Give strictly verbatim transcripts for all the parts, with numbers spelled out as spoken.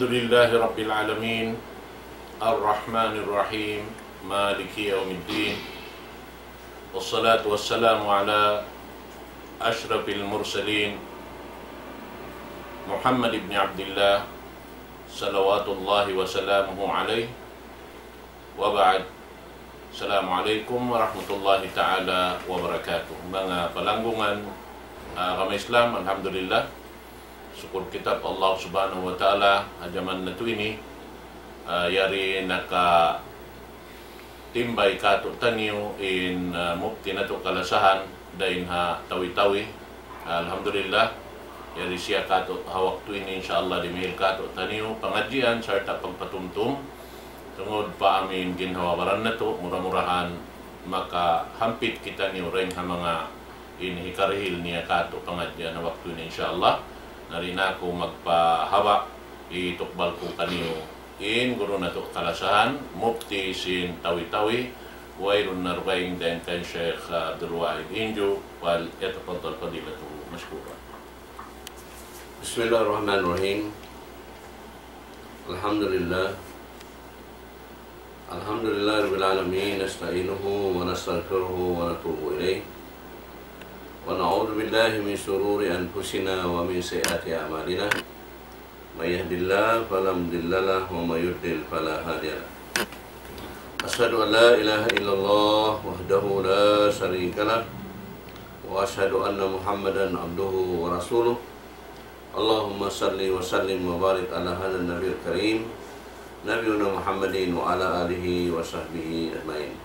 الحمد لله رب العالمين، الرحمن الرحيم، مالك يوم الدين، والصلاة والسلام على أشرف المرسلين، محمد بن عبد الله، صلوات الله وسلامه عليه، وبعد. السلام عليكم ورحمة الله تعالى وبركاته. Manga palanggungan, ah, agama Islam, alhamdulillah. Sukul kita pa Allah Subhanahu wa Ta'ala, ha jaman natu' ini, ah, yari nakatimbay kātu'niyu in, ah, mufti natu' kalasahan, dayn ha Tawi-Tawi. Alhamdulillah, yari siya kātu' ha waktu ini, insya Allah, dimihil kātu'niyu pangadjian sarta' pagpatumtum. Tungud pa amu in ginhawa-baran natu', mura-murahan makahampit kitaniyu dayn ha manga in hikarihil niya kātu' pangadjian ha waktu ini, insya Allah. Na di' na aku magpahaba', itukbal ku kaniyu in guru natu' kalasahan, mufti sin Tawi-Tawi, wayruun na dugaing dayn kan Sheikh Abdul Wahid Inju, وليتفضل فضيلته مشكورا. بسم الله الرحمن الرحيم. الحمد لله. الحمد لله رب العالمين، نستعينه ونستغفره ونتوب إليه، ونعوذ بالله من شرور أنفسنا ومن سيئات أعمالنا. من يهد الله فلا مضل له، ومن يضلل فلا هادي له. أشهد أن لا إله إلا الله وحده لا شريك له، وأشهد أن محمدا عبده ورسوله. اللهم صل وسلم وبارك على هذا النبي الكريم، نبينا محمد وعلى آله وصحبه أجمعين.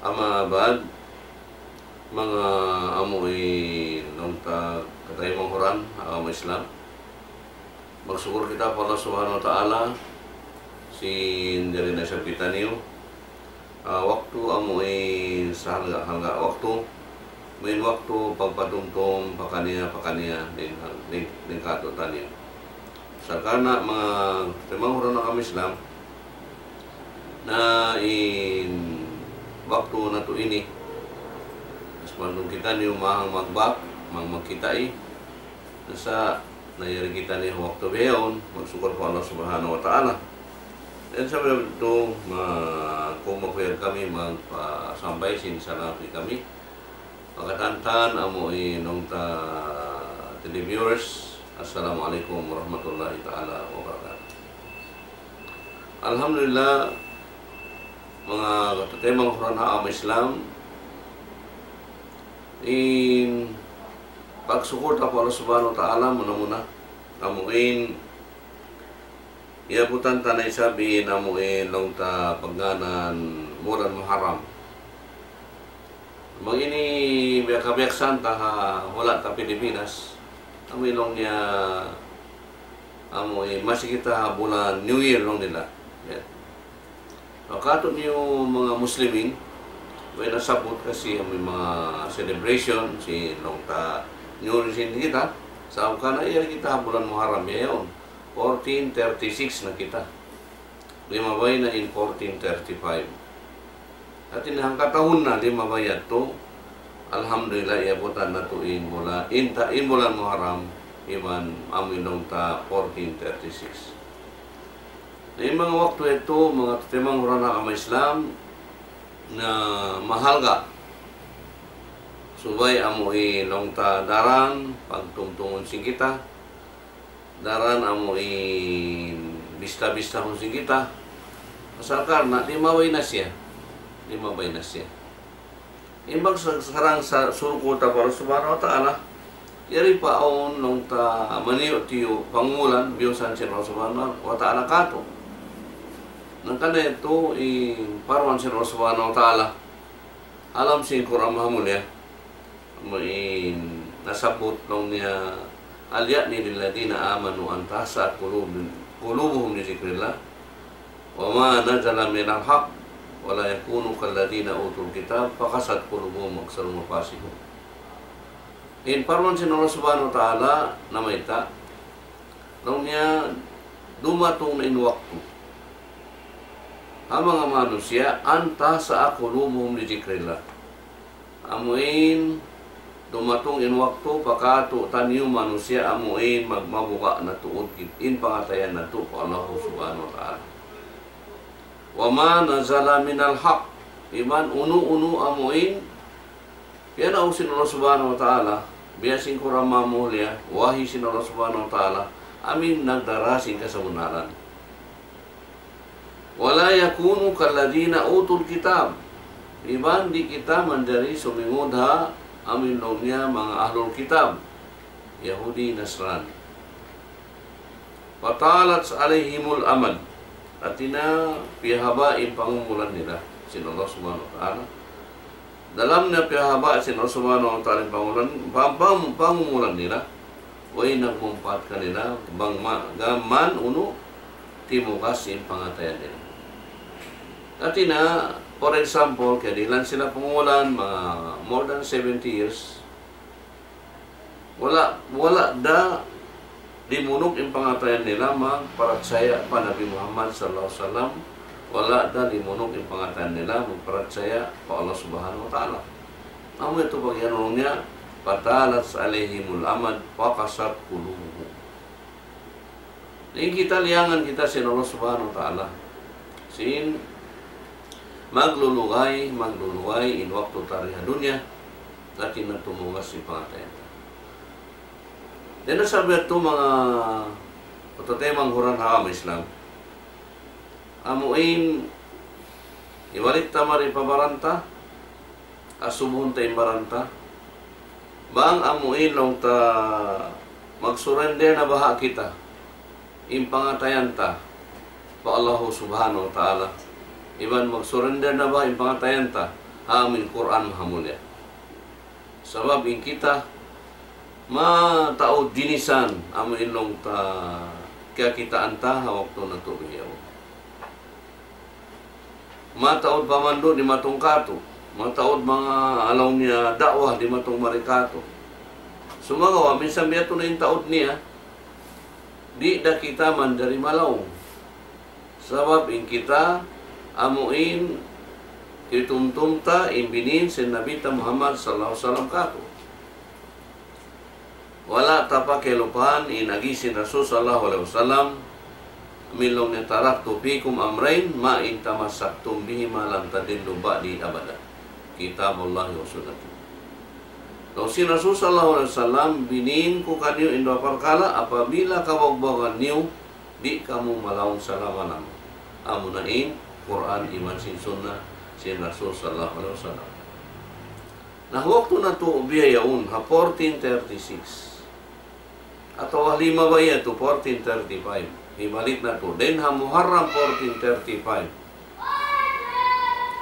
أما بعد، manga amu in laung ta kataymanghuran agama Islam. Magsukul kita pa Allah Subhanahu wa Ta'ala, sin jari na isab kitaniyu, ah, waktu amu in sahalga'-halga' waktu, amu in waktu pagpatumtum pakaniya-pakaniya dayn, dayn, dayn kātu'niyu. Sa' karna' manga kataymanghuran agama Islam, na in waktu natu' ini, mas mandung kitaniyu mahang magbak, mahang magkitai, na sa' na yari kitaniyu waktu bihaun, magsukul pa Allah Subhanahu wa Ta'ala. Dayn sa' biya' yadtu, ma-, kung makuyag kami, magpasampay sin salaam kami. Pagkatantan amu in laung ta televiewers, Assalamu alaykum warahmatullahi ta'ala wabarakatuh. Alhamdulillah, manga kataymanghuran agama Islam, in pagsukul ta pa Allah Subhanahu wa Ta'ala, muna-muna, amu in iyabutan ta na isab in amu in laung ta pagngānan bulan Muharram. Bang ini biya' kabiyaksahan ta ha hula' ta Pilipinas, amu in laung niya, amu in masi kita ha bulan New Year laung nila. Ya. So, kātu'niyu manga Muslimin, way nasabbut kasi amu in manga celebration, sin laung ta New Year sin kita, sa' karna' yari kita ha bulan Muharram, ya yaun. Fourteen thirty-six na kita. Limabay na in fourteen thirty-five. Hāti niya hangkatahun na limabay yadtu. Alhamdulillah, iyabutan natu' in bulan, in ta-, in bulan Muharram, iban amu in laung ta fourteen thirty-six. Na in manga waktu yadtu, manga kataymanghuran agama Islam, na mahalga'. Subay amu in laung ta daran, pagtumtumun sin kita, daran amu in bista-bistahun sin kita. Pasal karna' limabay na siya. Limabay na siya. Imbang sa-, sarang sa-, sukul ta pa Allah Subhanahu wa Ta'ala, yari pa awn laung ta maniyu'-tiyu' pangumulan, biyusan sin Allah Subhanahu wa Ta'ala kātu'. Hangkan yadtu in parman sin Allah Subhanahu wa Ta'ala, ha lawm sin Qur'an Mahamulliya, amu in nasabbut laung niya, أليأن للذين آمنوا أن تخشع قلوب-، قلوبهم لذكر الله وما نزل من الحق ولا يكونوا كالذين أوتوا الكتاب فقست قلوبهم وأكثرهم فاسقون. In parman sin Allah Subhanahu wa Ta'ala namayta', laung niya dumatung na in waktu ha manga manusiya', أن تخشع قلوبهم لذكر الله. Amu in Dumatung in waktu pa kātu'niyu manusiya' amu in magmabuga' na tuud kit-, in pangatayan natu' pa Allah Subhanahu wa Ta'ala. وما نزل من الحق. Iban unu-unu amu in piyanau sin Allah Subhanahu wa Ta'ala, biya' sin Qur'an mamulia', wahi sin Allah Subhanahu wa Ta'ala, amu in nagdara sin kasabunnalan. ولا يكونوا كالذين أوتوا الكتاب. Iban di' kita manjari sumingud ha amu in laung niya manga ahlul kitab, Yahudi, Nasrani. فطالت عليهم الأمد. Hāti niya piyahaba' in pangumulan nila sin Allah Subhanahu wa Ta'ala. Dalam niya piyahaba' sin Allah Subhanahu wa Ta'ala in pangumulan, pang-, pang-, pangumulan nila, way nagmumpaat kanila, bang ma-, gām unu, timugas in pangatayan nila. Hāti niya, for example, kiyadihilan sila pangumulan, manga more than seventy years, wala', wala' da limunuk in pangatayan nila magparachaya pa Nabi Muhammad sallallahu alayhi wasallam, wala' da limunuk in pangatayan nila magparachaya pa Allah Subhanahu wa Ta'ala. Amu yadtu pag'iyanun niya, فطالت عليهم الأمد فقست قلوبهم. In kita liyangan kita sin Allah Subhanahu wa Ta'ala. Sin maglulugay, maglulugay in waktu ta di ha dunya, lakin na tumugas in pangatayan ta. Dayn ha sabab yadtu manga pagtaymanghuran ha agama Islam. Amu in hibalik ta mari pa baran ta, asubuhun ta in baran ta. Bang amu in laung ta mag-surrender na baha' kita in pangatayan ta pa Allah Subhanahu wa Ta'ala. Iban mag-surrender na baha' in pangatayan ta ha amu in Qur'an mahamulya. Sabab in kita mataud jinisan amu in laung ta kiyakitaan ta ha waktu natu' bihaun. Mataud pamandu' dimatung kātu'. Mataud manga laung niya da'wa dimatung mari kātu'. Sumagawa', minsan biya' tuud na in taud niya, di' da kita manjari malaung. Sabab in kita, amu in, titumtum ta, in binin sin Nabi ta Muhammad sallallahu alayhi wasallam kātu'. Wala' ta pa kiyalupahan in agi sin Rasul sallallahu alayhi wasallam, amu in laung niya تركت فيكم أمرين ما إن تمسكتم بهما لن تضلوا بعدي أبدا. كتاب الله وسنتي. Laung sin Rasul sallallahu alayhi wasallam, binin ku kaniyu in duwa parkala', apabila kabagbagawan niyu, di' kamu malaung salama-lama. Amuna in Qur'an iban sin Sunnah sin Rasul sallallahu alayhi wasallam. Na, waktu natu' bihaun ha fourteen thirty-six. Atawa limabay yadtu fourteen thirty-five. Hibalik natu'. Dayn ha Muharram fourteen thirty-five.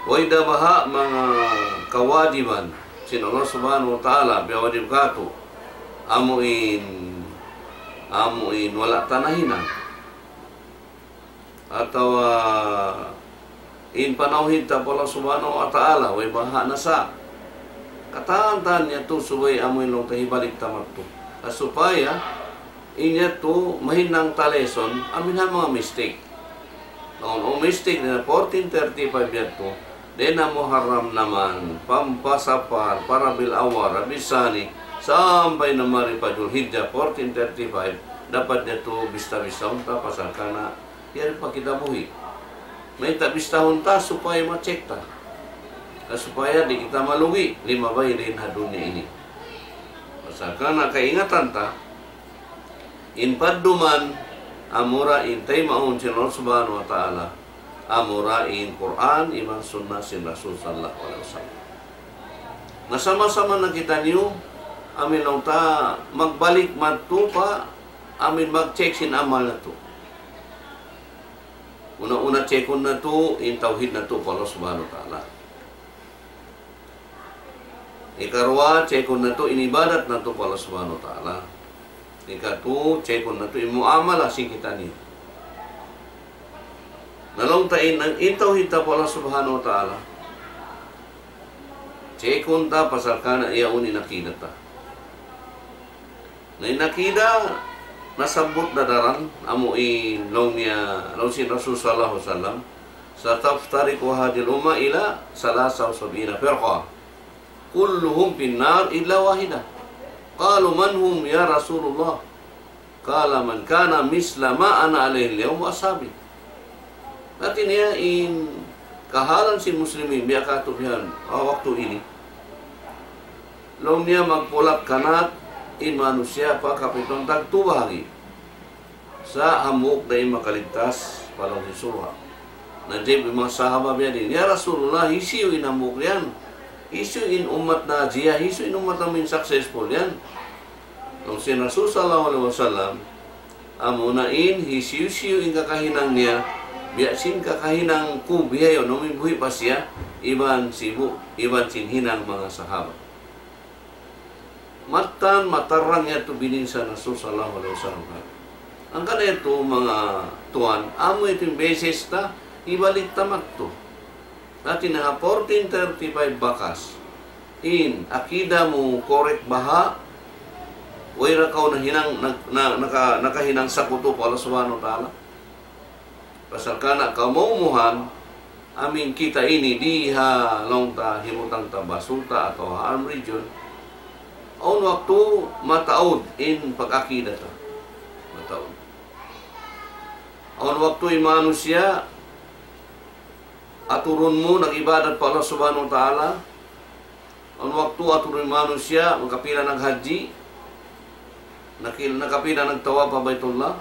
Way da baha' manga kawajiban sin Allah Subhanahu wa Ta'ala, piyawajib kātu'. Amu in, amu in wala' ta nahinang. Atawa in panawhid ta pa Allah Subhanahu wa Ta'ala, way baha' na sa. Katan-katan yadtu subay amu in laung ta hibalik ta madtu. Supaya in yadtu mahinang ta lesson, amu in ha manga mistake. Laung, o mistake na fourteen thirty-five yadtu. Dayn ha Muharram naman, pa, pa Safar, pa Rabiul Awwal, Rabiul Thani, sampay na mari pa Dhul Hijjah, fourteen thirty-five, dapat yadtu bista-bistahun ta pasal karna' yari pa kita buhi'. Mayta' bistahun ta supaya ma-check ta. Na supaya di' kita malugi, limabay dayn ha dunya ini. Pasal karna' kaingatan ta, in padduman, amura in taymaun sin Allah Subhanahu wa Ta'ala, amura in Qur'an, iban sunnah sin Rasul sallallahu alayhi wasallam. Na sama-sama na kitaniyu, amu in laung ta magbalik madtu pa, amu in mag-check sin amal natu'. Una-una, checkun natu' in tawhid natu' pa Allah Subhanahu wa Ta'ala. Ikaruwa, checkun natu' in ibadat natu' pa Allah Subhanahu wa Ta'ala. Ikatu, checkun natu' in muamalah sin kitaniyu. Na laung ta in, in tawhid ta pa Allah Subhanahu wa Ta'ala. Checkun ta pasal karna' yaun in akida ta. Na in akida, nasabbut da daran, amu in laung niya, laung sin Rasul sallallahu alayhi wasallam, ستفترق هذه الأمة إلى ثلاث وسبعين فرقة. كلهم في النار إلا واحدة. قالوا: من هم يا رسول الله؟ قال: من كان مثل ما أنا عليه اليوم وأصحابي. Hati niya in kahalan sin muslimin, biya' katu' bihan, ah, waktu ini. Laung niya magpulak kanat in manusiya' pa kapitung tagtu bahagi'. Sa' hambuuk da in makaligtas pa lawm sin surga'. Nag-iyag in manga sahaba biya' diin, "Ya Rasulullah, hisiyu in hambuuk yan? Hisiyu in ummat najiya? Hisiyu in ummat namin successful yan?" Laung sin Rasul sallallahu alayhi wasallam, "Amuna in hisiyu-siyu in kakahinang niya, biya' sin kakahinang ku bihaun, amuin buhi' pa siya, iban sibu', iban sin hinang manga sahaba." Mattan matarang yadtu biyayta' sin Rasul sallallahu alayhi wasallam. Hangkan yadtu manga tuwan, amu yadtu in basis ta, hibalik ta madtu. Hati niya ha fourteen thirty-five bakas. In, akida mu correct baha', way da kaw nahinang, na, na, naka, nakahinang sakutu pa Allah Subhanahu wa Ta'ala. Pasal karna' kaumumuhan, amin kita ini di ha laung ta hibutang ta Basol ta atawa ha Arm Region. Awn waktu mataud in pag-akida ta. Mataud. Awn waktu in manusiya', aturun mu nag-ibadat pa Allah Subhanahu wa Ta'ala, awn waktu aturun in manusiya', nakapila naghajji, nakil-, nakapila nagtawaf pa Baytullah,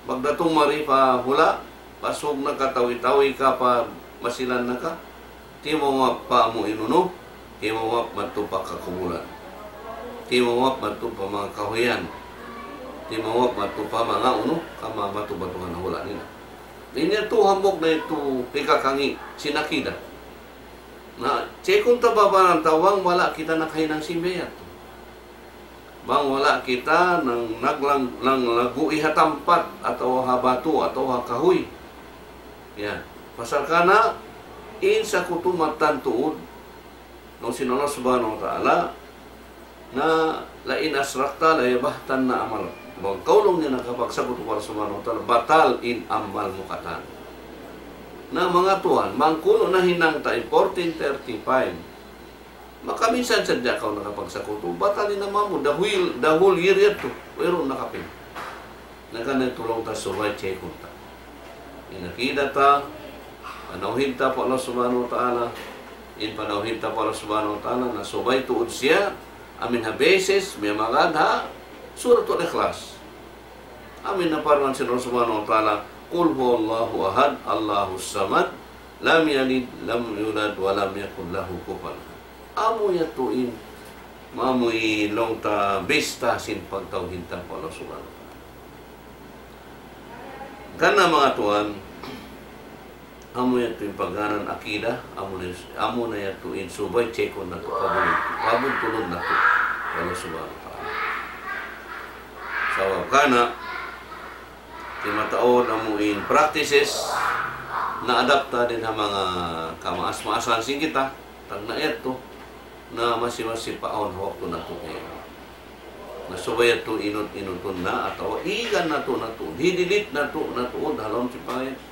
pagdatung mari pa hula', pasug na ka, tawi-tawi ka pa masilan na ka, timawaf pa amu in unu, timawaf madtu pa kakubulan. Timawaf madtu pa manga kahuyan. Timawaf madtu pa manga unu, ka manga batu-batuhan ha hula' nila. Ini yadtu hambuuk na yadtu hikakangi' sin akida. Na, checkun ta babaran ta bang wala' kita nakahinang sin biya' yadtu. Bang wala' kita nang naglang-, nang lagu' ha tampat atawa ha batu atawa ha kahuy. Ya. Pasal karna' in sakutu mattan tuud, laung sin Allah Subhanahu wa Ta'ala, na لئن أشركت ليحبطن عملك. Bang kaw laung niya nakapagsakutu pa Allah Subhanahu wa Ta'ala, batal in amal mu katan. Na manga tuwan, bang kunu' nahinang ta in fourteen thirty-five, makaminsan sadja kaw nakapagsakutu, batal in amal mu, the whole, the whole year yadtu, wayruun nakapin. Na karna' yadtu laung ta subay checkun ta. In akida ta, panawhid ta pa Allah Subhanahu wa Ta'ala, in panawhid ta pa Allah Subhanahu wa Ta'ala, na subay tuud siya, amin ha basis, miyamagad ha Suratul Ikhlas. Amin ha parman sin Allah Subhanahu wa Ta'ala, قل هو الله أحد، الله الصمد، لم يلد ولم يولد ولم يكن له كفوا أحد. Amu yadtu in, amu in laung ta bista sin pagtawhid ta pa Allah Subhanahu wa Ta'ala. Karna' manga tuwan, amu yadtu in pagngānan akida, amu na, amu na yadtu in subay checkun natu', pabudtulun, pabudtulun natu' pa Allah Subhanahu wa Ta'ala. Sabab karna', timataud amu in practices, na-adapt ta dayn ha manga kamaas-maasan sin kita, tagna' yadtu, na masi-masi pa awn ha waktu natu' kay. Na subay yadtu inut-inutun na atawa igan natu' na tuud, hidilip natu' na tuud ha lawm sin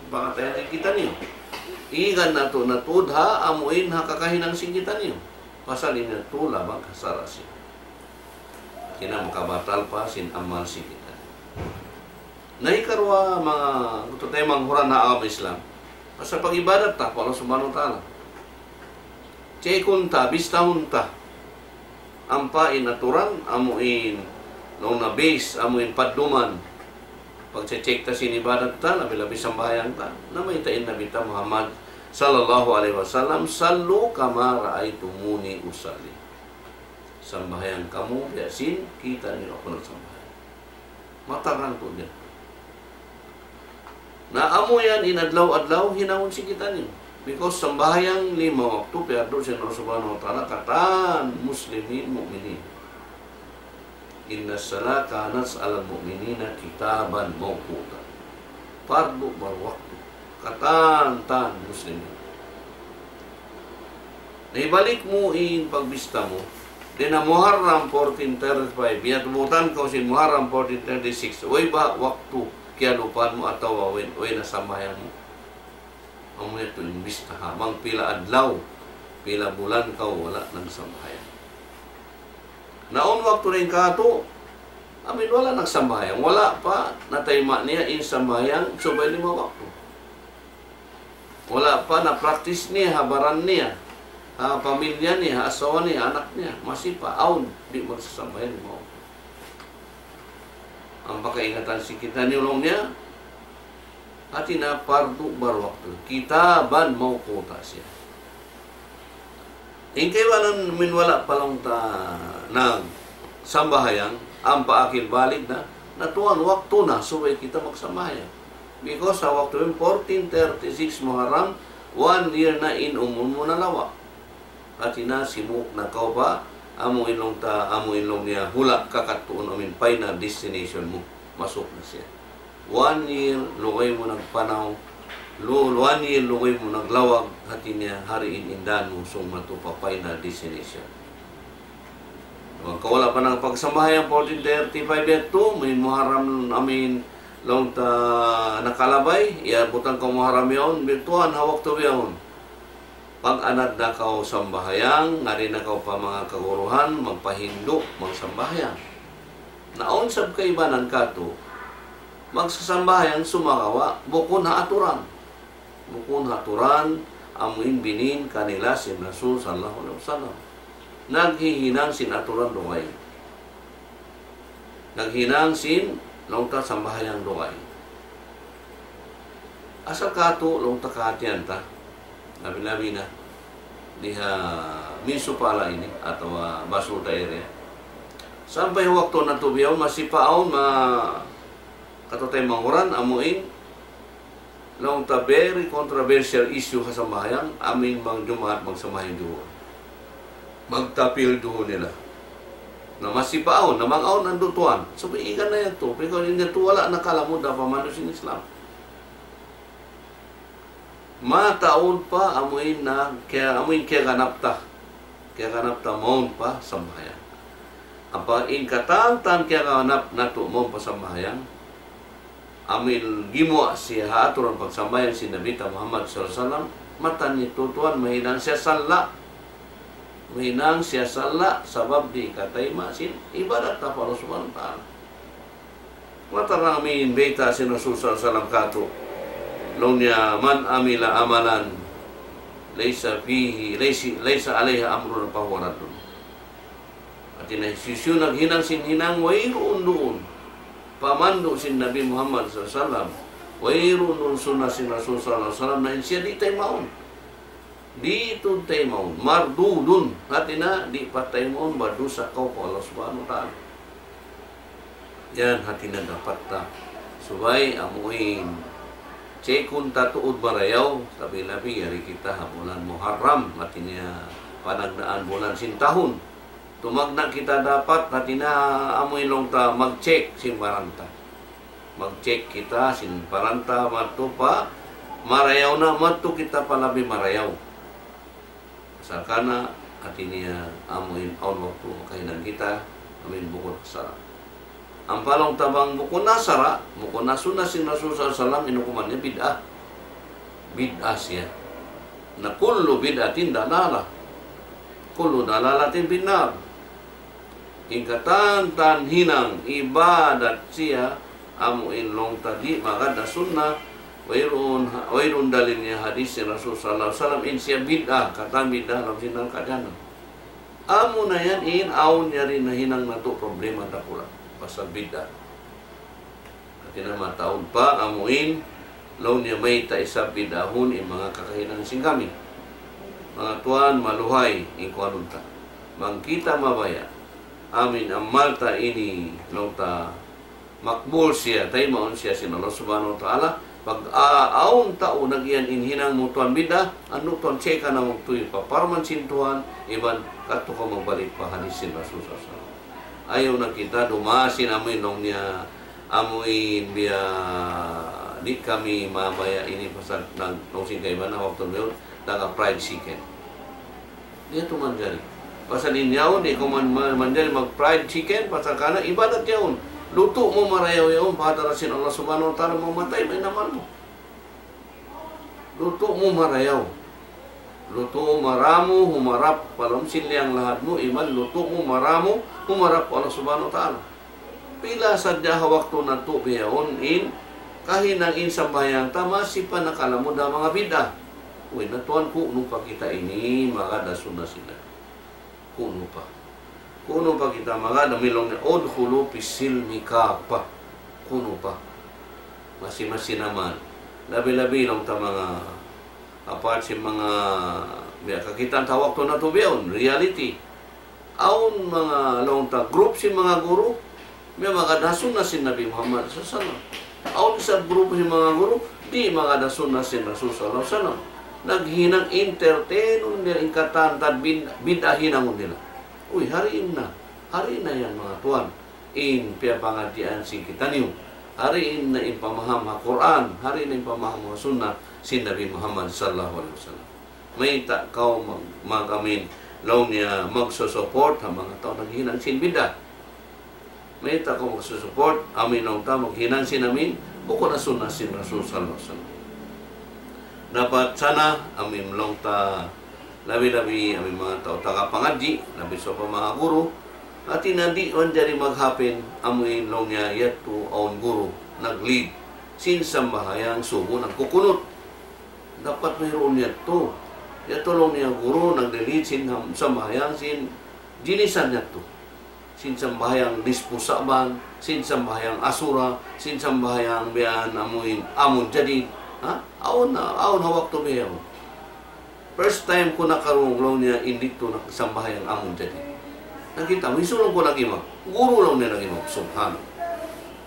pangatayan sin kitaniyu. Igan natu' na tuud ha amuin ha kakahinang sin kitaniyu. Pasal in yadtu labang ha sara' siya. Hangkan makabatal pa sin amal sin kitaniyu. Na hikaruwa manga, kutu tayo manghuran ha agama Islam. Pasal pag-ibadat ta pa Allah Subhanahu wa Ta'ala. Checkun ta, bistahun ta. Ampa in aturan, amu in, laung na base, amu in padduman. Pag-check ta sin ibadat ta, labi-labi sambahayang ta. Na mayta' in Nabi ta Muhammad sallallahu alayhi wasallam, صلوا كما رأيتموني أصلي. Sambahayang kamu, biya' sin kita' niyu aku nagsambahayang. Matarang tuud yan. Na amu yan in adlaw-adlaw hinangun sin kitaniyu. Because sambahayang lima waktu piyardu sin Allah Subhanahu wa Ta'ala katan muslimin mu'minin. إن الصلاة كانت على المؤمنين كتابا موقوتا. Pardu barwaktu. Katan-katan muslimin. Na hibalik mu in pagbista mu, dayn ha Muharram fourteen thirty-five, biyatubutan kaw sin Muharram fourteen thirty-six, way ba waktu kiyalupahan mu atawa way, way na sambahayang mu? Amu yadtu in bista ha, bang pila adlaw Pila bulan kaw wala' nagsambahayang. Na awn waktu dayn katu', amin wala' nagsambahayang. Wala' pa natayma' niya in sambahayang subay lima waktu. Wala' pa na-practice niya ha baran niya, ha pamilya niya, ha asawa niya, anak niya. Masi pa awn, di' magsasambahayang lima waktu. Ampa kaingatan sin kitaniyu laung niya, hati niya pardu barwaktu. Kitaban mawquta siya. In kaibanan amin wala' pa laung ta nagsambahayang, ampa akil balig na, na tuwan waktu na subay kita magsambahayang. Because ha waktu in fourteen thirty-six Muharram, one year na in umul mu nalawa'. Hati niya simuuk na kaw pa, amu in laung ta, amu in laung niya hula' kakadtuun amu in final destination mu. Masuk na siya. One year, lugay mu nagpanaw, lu-, one year, lugay mu naglawag, hati niya hari in indahan mu sung matu pa final destination. Bang kaw wala' pa nagpagsambahayang fourteen thirty-five yadtu, amu in Muharram, amu in laung ta nakalabay, ya butang kaw Muharram yaun, bituan ha waktu bihaun. Pag-anad na kaw sambahayang, ngari na kaw pa manga kaguruhan, magpahindu', magsambahayang. Na awn sab kaibanan katu', magsasambahayang sumagawa', bukun ha aturan. Bukun ha aturan, amu in binin kanila sin Rasul sallallahu alayhi wasallam. Naghihinang sin aturan dugaing. Naghinang sin laung ta sambahayang dugaing. Asal katu' laung ta kahatihan ta, labi-labi na di ha Minsupala ini atawa Basulta area. Sampay waktu natu' bihaun masi pa awn ma-, katu' tay manguran amu in laung ta very controversial issue ha sambahayang, amu in bang Jumaat magsambahayang duhun. Magtapil duhun nila. Na masi pa awn, na bang awn andu' tuwan. So, igan na yadtu. Because in yadtu wala' nakalamud ha pamandu' sin Islam. Mataud pa amu in na, kaya, amu in kiyaganap ta. Kiyaganap ta mawn pa sambahayang. Apa in katantan kiyaganap natu' mawn pa sambahayang, amu in gimuwa' siya ha aturan pagsambahayang sin Nabi ta Muhammad sallallahu alayhi wasallam, mattan niya tuwan mahinang siya salla'. Mahinang siya salla', sabab di' katayma' sin ibadat ta pa Allah Subhanahu wa Ta'ala. Matarang amu in bayta' sin Rasul sallallahu alayhi wasallam katu'. Laung niya, من عمل عملا ليس فيه، ليس، ليس عليه أمرنا فهو رد. Hati niya, hisiyu-siyu naghinang sin hinang wayruun duun pamandu' sin Nabi Muhammad sallallahu alayhi wasallam, wayruun duun sunnah sin Rasul sallallahu alayhi wasallam, na in siya di' taymaun. Di' tuud taymaun. Mardudun. Hati niya, di' pataymaun, badusa kaw pa Allah Subhanahu wa Ta'ala. Yan, hati niya dapat ta. Subay amu in check-un ta tuud marayaw, labi-labi yari kita ha bulan Muharram, hati niya panagnaan bulan sin tahun. Tumagna' kita dapat, hati niya amu in laung ta mag-check sin baran ta. Mag-check kita sin baran ta madtu pa marayaw na, madtu kita pa labi marayaw. Pasal kana, hati niya amu in awn waktu makahinang kita, amu in bukun ha sara'. Ampa laung ta bang bukun ha sara', bukun ha sunnah sin Rasul sallallahu alayhi wasallam, in hukuman niya bid'ah. Bid'ah siya. Na كل بدعة ضلالة وكل ضلالة في النار. In katantan hinang ibadat siya, amu in laung ta di' magad ha sunnah, wayruun, wayruun dalil niya hadis sin Rasul sallallahu alayhi wasallam, in siya bid'ah, katan bid'ah, laung sin nangkadana. Amu na yan in awn yari nahinang natu' problema dakula', pasal bid'ah. Hati niya mataud pa amu in laung niya mayta' isab bid'ahun in manga kakahinang sin kami. Manga tuwan, maluhay in kuwanun ta. Bang kita mabaya', amu in amal ta ini laung ta makbul siya, taymaun siya sin Allah Subhanahu wa Ta'ala. Pag, ah, awn tau nag-iyan in hinang mu tuwan bid'ah, anu tuwan check-a na magtuy pa parman sin Tuhan, iban kadtu kaw magbalik pa hadis sin Rasul sallallahu alayhi wasallam. Ayaw na kita dumasin amu in laung niya, amu in biya' di' kami mabaya' ini pasal nag-, laung sin kaibanan waktu na yun, taga fried chicken. Di' yadtu manjari. Pasal in yaun, di' kaw man-, man-, manjari mag-fried chicken, pasal kana ibadat yaun. Lutu' mu marayaw yaun, pa hadarat sin Allah Subhanahu wa Ta'ala, mamatay, mahinang amal mu. Lutu' mu marayaw. Lutu' mu maramu, humarap pa lawm sin liyang lahad mu, iban lutu' mu maramu, humarap pa Allah Subhanahu wa Ta'ala. Pila sadja ha waktu natu' bihaun in kahinang in sambahayang ta masi pa nakalamud ha manga bid'ah. Uy, na tuwan, kunu' pa kita ini magad ha sunna sila. Kunu' pa. Kunu' pa kita magad, amu in laung niya, "Udkhulu fis silmi kaffah." Kunu' pa. Masi-masi na man. Labi-labi laung ta manga, apart sin manga, biya' kakitaan ta waktu natu' bihaun, reality. Awn manga laung ta group sin manga guru, miyamagad ha sunna sin Nabi Muhammad sallallahu alayhi wasallam. Awn isab group sin manga guru, di' magad ha sunna sin Rasul sallallahu alayhi wasallam. Naghinang entertainun nila in katan tad bin-, bid'ah hinangun nila. Uy, hari in na, hari in na yan, manga tuwan, in piyapangadjian sin kitaniyu. Hari in na in pamaham ha Qur'an, hari in na in pamaham ha sunna sin Nabi Muhammad sallallahu alayhi wasallam. Mayta' kaw mag-, mag-, amu in laung niya magsusupport ha manga tau naghinang sin bid'ah? Mayta' kaw magsusupport, amu in laung ta, maghinang sin amu in bukun ha sunna sin Rasul sallallahu alayhi wasallam? Dapat sana, amu in laung ta, labi-labi amu in manga tau taga pangadji', labi sa pa manga guru, hati niya di' manjari maghapin, amu in laung niya yadtu awn guru nag-lead sin sambahayang subu nagkukunut. Dapat wayruun yadtu. Yadtu laung niya guru nag-lead sin ham-, sambahayang sin jinisan yadtu. Sin sambahayang nispu Sa'ban, sin sambahayang Asura, sin sambahayang biya' amu in Amun Jadid. Ha? Awn na, awn ha waktu bihaun. First time ku nakarungug laung niya in didtu nagsambahayang Amun Jadid. Nakita' mu, hisunung ku nag-imam. Guru laung niya nag-imam. Subhanallah.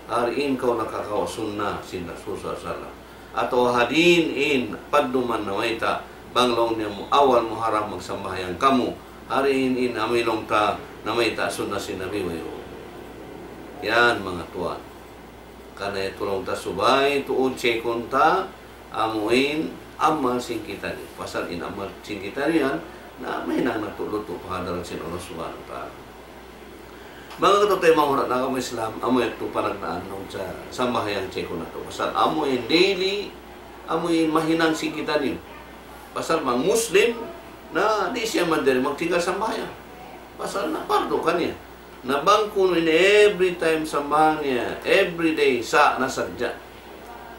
Hari in kaw nakakawa' sunna sin Rasul sallallahu alayhi wasallam. Atawa ha diin in padduman namayta', bang laung niya mu awal Muharram magsambahayang kamu. Hari in, in amu in laung ta namayta' sunna sin Nabi, wayruun. Yan, manga tuwan. Karna' yadtu laung ta subay tuud checkun ta, amu in amal sin kitaniyu. Pasal in amal sin kitaniyu yan, na mahinang natu' lutu' pa hadarat sin Allah Subhanahu wa Ta'ala. Manga kataymanghuran, manga agama Islam, amu yadtu panagnaan laung sa sambahayang checkun natu'. Pasal amu in daily, amu in mahinang sin kitaniyu. Pasal bang Muslim, na di' siya manjari magtinggal sambahayang. Pasal na pardu kaniya. Na bang kunu' in every time sambahayang niya, every day, sa' na sadja.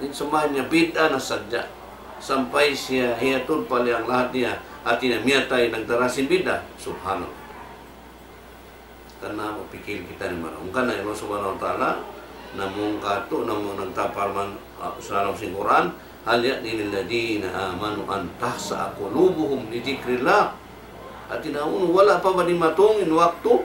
In sambahayang niya, bid'ah na sadja. Sampay siya hiyatud pa liyang lahad niya, hati niya miyatay nagdara sin bid'ah. Subhanallah. Karna' mapikil kita ini marayaw. Karna' Allah Subhanahu wa Ta'ala, namung katu', namung nagtaparman, ah, sa lawm sin Qur'an, "هل يأن الذين آمنوا أن تخشع قلوبهم لذكر الله." Hati niya unu, wala' pa ba dimatung in waktu?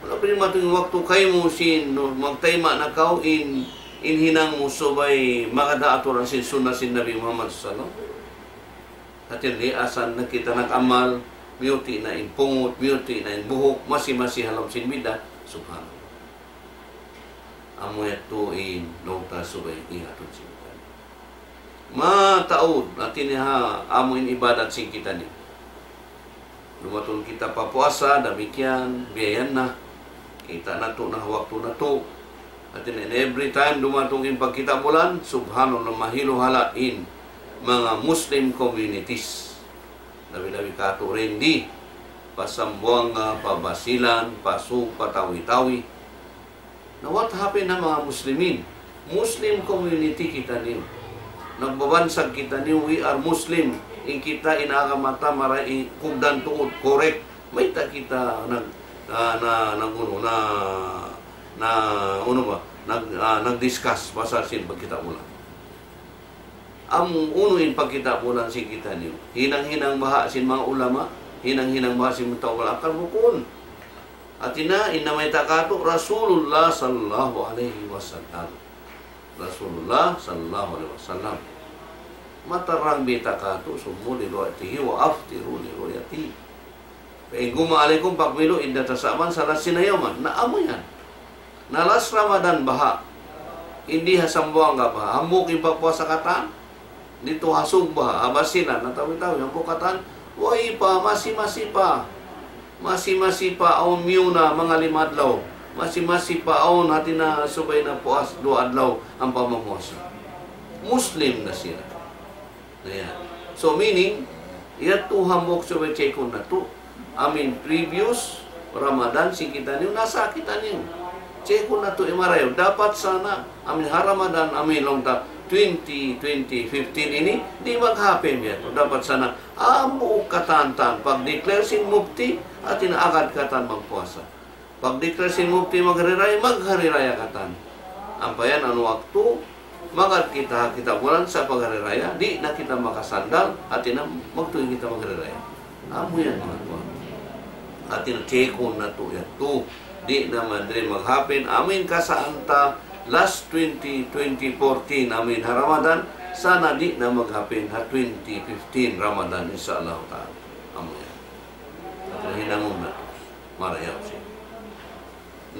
Wala' pa dimatung in waktu kaymu sin, no, magtayma' na kaw in, in hinang mu subay magad ha aturan sin sunna sin Nabi Muhammad sallallahu alayhi wasallam. Hati niya, asan na kita nag-amal, miyuti' na in pungut, miyuti' na in buhuk, masi-masi ha lawm sin bid'ah, subhanallah. Amu yadtu in laung ta subay ingatun sin kita. Mataud, hati niya ha, amu in ibadat sin kita ini. Dumatung kita pa puasa, damikkiyan, biya' yan na. Kita' natu' na waktu natu'. Hati niya, every time dumatung in pagkita' bulan, subhanallah, mahilu-hala' in manga Muslim communities. Labi-labi katu' dayn di, pa Zamboanga, pa Basilan, pa Sug, pa Tawi-Tawi. Na what happened ha manga Muslimin? Muslim community kitaniyu. Nagbabansag kitaniyu, we are Muslim. In kita in agama ta marayaw, kugdan tuud, correct. Mayta' kita nag-, na, na, nag-, unu, na, na, unu ba? Nag-, ah, nag-discuss pasal sin pagkita' bulan. Amu unu in pagkita' bulan sin kitaniyu? Hinang-hinang baha' sin manga ulama, hinang-hinang baha' sin manga tau wal akal, bukun. Hati niya, in namayta' katu', Rasulullah sallallahu alayhi wasallam. Rasulullah sallallahu alayhi wasallam. Matarang bayta' katu', صوموا لرؤيته وأفطروا لرؤيته. فإن غم عليكم فأكملوا عدة شعبان ثلاثين يوما. Na amu yan. Na last Ramadan baha'. Di ha Zamboanga baha'. Hambuuk in pagpuasa katan. Didtu ha Sug baha', ha Basilan, atawa Tawi-Tawi, hambuuk katan. Way pa, masi-masi pa. Masi-masi pa awn miyuna manga lima adlaw. Masi-masi pa awn hati niya subay na puas duwa adlaw ampa mamuasa. Muslim na sila. Na yan. So, meaning, Yadtu hambuuk subay check-un natu'. Amin previous Ramadan sin kitaniyu, nasa kitaniyu. Check-un natu' in marayaw. Dapat sana, amin ha Ramadan, amin laung ta twenty, twenty fifteen ini, di' mag-happen yadtu. Dapat sana, hambuuk katan-katan, pag-declare sin mufti, hati niya agad katan magpuasa. Pag-declare sin mufti maghari raya, maghari raya katan. Ampa yan awn waktu, magad kita ha kitabulan sa' paghari raya, di' na kita makasandal, hati niya magtuy kita maghari raya. Amu yan, manga tuwan. Hati niya check-un natu' yadtu. Di' na man diri mag-happen. Amin kasaan ta last twenty, twenty fourteen, amin ha Ramadan, sana di' na mag-happen ha twenty fifteen Ramadan, insya Allah ta'ala. Amu yan. Hati niya hinangun natu'. Marayaw siya.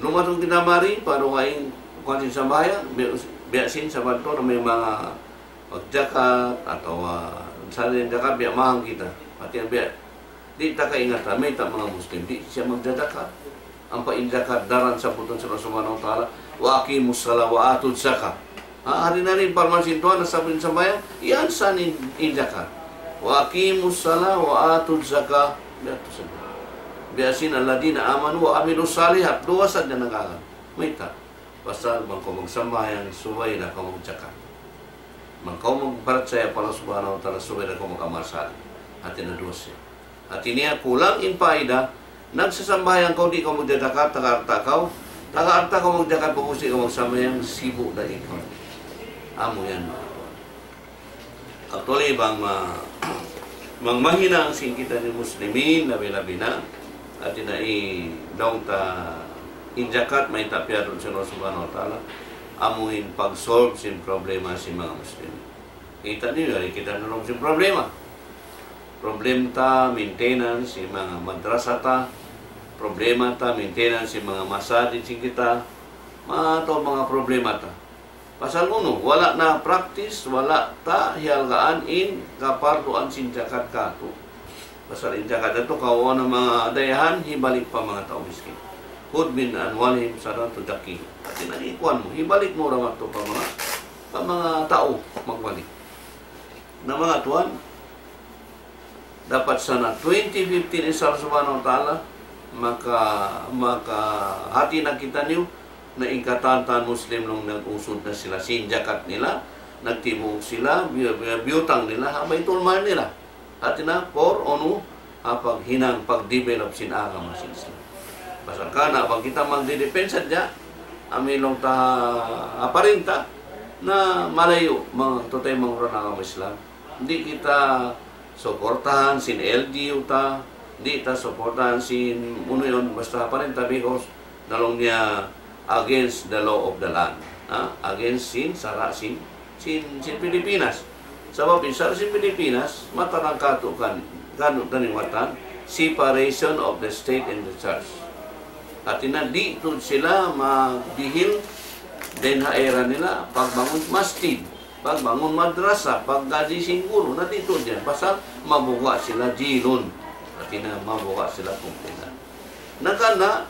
Dumatung kita mari, pa dugaing kuwan sin sambahayang, biya', biya' sin sabab tu na may manga magjakat, atawa, ah, sa' in jakat, biya' mahang kita. Hati niya biya', di' ta kaingatan, mayta' manga Muslim, di' siya magjajakat. Ampa in jakat daran sabbutun sin Allah Subhanahu wa Ta'ala, وأقيموا الصلاة وآتوا الزكاة. Ha, hari-hari parman sin Tuhan, nasabbut in sambahayang, yan sa' in, in jakat. وأقيموا الصلاة وآتوا الزكاة. Biya' tu saja. Biya' sin الذين آمنوا وعملوا الصالحات. Duwa sadja nag-agal. Mayta'? Pasal bang kaw magsambahayang, subay da kaw magjakat. Bang kaw magparachaya pa Allah Subhanahu wa Ta'ala, subay da kaw mag-amal salih. Hati niya duwa siya. Hati niya kulang in paida, nagsasambahayang kaw, di' kaw magjajakat, taga alta' kaw, taga alta' kaw magjakat, pag'ubus di' kaw magsambahayang, sibu' da ikaw. Amu yan, manga tuwan. Actually, bang ma-, bang mahinang sin kitaniyu Muslimin, labi-labi na, hati niya i-, laung ta in jakat, mayta' piyadtu sin Allah Subhanahu wa Ta'ala, amu in pag-solve sin problema sin manga Muslim. Kita' niyu, yari kita na laung sin problema. Problema ta, maintenance sin manga madrasa ta, problema ta, maintenance sin manga masajid sin kita, manga tau manga problema ta. Pasal unu, wala' na practice, wala' ta hihalgaan in kaparduan sin jakat katu'. Pasal in jakat yadtu kawaun na manga dayahan, hibalik pa manga tau miskin. خذ من أموالهم صدقة تزكيهم. Hati niya ikuan mu, hibalik mu dayn ha manga, pa manga tau magbalik. Na manga tuwan, dapat sana twenty fifteen, insya Allah Subhanahu wa Ta'ala, maka, maka hati na kitaniyu, na in katan-katan Muslim laung nag-usud na sila sin jakat nila, nagtibuuk sila, biyu-, biyu-, biyutang nila, ha Baitul Mal nila. Hati niya, for unu, ha paghinang, pag-develop sin agama sin Islam. Pasal karna' bang kita magdidepensa sadja, amu in laung ta ha parinta, na malayu', manga tuud in manga ugtuun agama Islam. Di' kita suportahan sin L G U ta, di' ta suportahan sin unu yan, basta parinta, because laung niya against the law of the land. Ha? Against sin sara' sin, sin, sin Pilipinas. Sabab in sara' sin Pilipinas, matarang katu' kan, kanu' taniwatan, separation of the state and the church. Hati niya, di' tuud sila magdihil dayn ha era nila, pagbangun masjid, pagbangun madrasa, paggaji sin guru, na di' tuud yan. Pasal mabuga' sila jilun. Hati niya, mabuga' sila kumpilan. Na karna',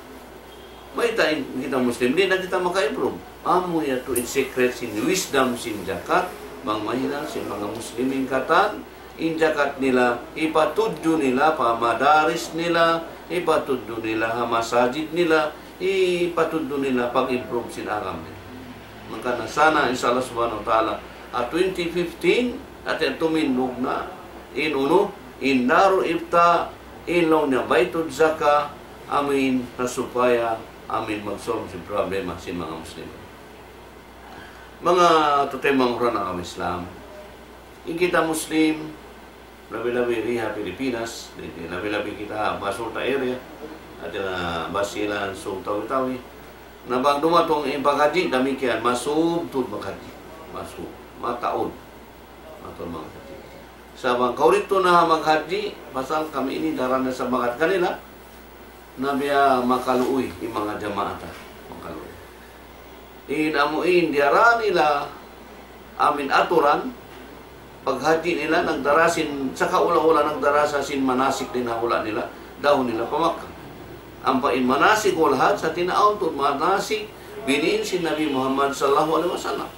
mayta' in kita Muslim, di' na kita maka-improve. Amu yadtu in secret sin wisdom sin jakat, bang mahinang sin manga Muslimin katan, in jakat nila, hipatudju nila pa madaris nila, hipatudju nila ha masajid nila, hipatudju nila pag-improve sin agama nila. Maka na sana, insya Allah Subhanahu wa Ta'ala, ha twenty fifteen, atin tumindug na, in unu, in Darul Ifta, in laung niya Baitul Zaka, amu in, na supaya, amu in mag-solve sin problema sin manga Muslim. Manga tuud in manga ugtuun agama Islam. In kita Muslim, labi-labi di ha Pilipinas, di, di, labi-labi kita Basurta area, atin Basilan, Sug, Tawi-Tawi. Na bang dumatung in paghaji, damikkiyan, masub tuud maghaji. Masub. Mataud. Mataud maghaji. Sa' bang kaw didtu na maghaji, pasal kami ini daran na sa' magad kanila, na biya' makaluuy in manga jamaa ta. Makaluuy. In amu in diyara nila amu in aturan, paghaji nila nagdara sin, saka ula-ula nagdara sa sin manasik dayn ha hula' nila, dahun nila pa Makkah. Ampa in manasik wal hajj, hati niya awn tuud manasik, biniin sin Nabi Muhammad sallallahu alayhi wasallam.